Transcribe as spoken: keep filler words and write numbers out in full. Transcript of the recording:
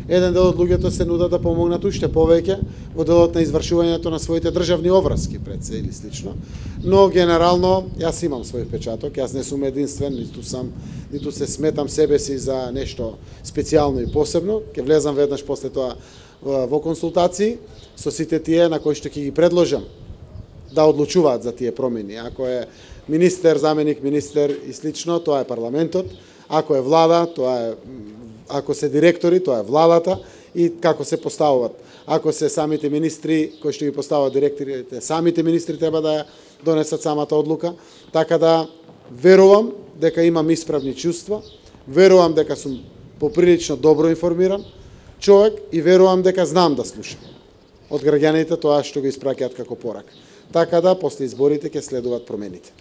Еден дел од луѓето се нудат да помогнат уште повеќе во делот на извршувањето на своите државни обврски пред се или слично. Но генерално јас имам свој впечаток, јас не сум единствен, ниту сам, ниту се сметам себе си за нешто специјално и посебно. Ќе влезам веднаш после тоа во консултации со сите тие на кои што ќе ги предложам да одлучуваат за тие промени. Ако е министер, заменик министер и слично, тоа е парламентот. Ако е влада, тоа е ако се директори, тоа е владата и како се поставуваат. Ако се самите министри кои што ги поставуваат директорите, самите министри треба да донесат самата одлука, така да верувам дека имам исправни чувства, верувам дека сум поприлично добро информиран човек и верувам дека знам да слушам од граѓаните тоа што го испраќаат како порак. Така да после изборите ќе следуваат промените.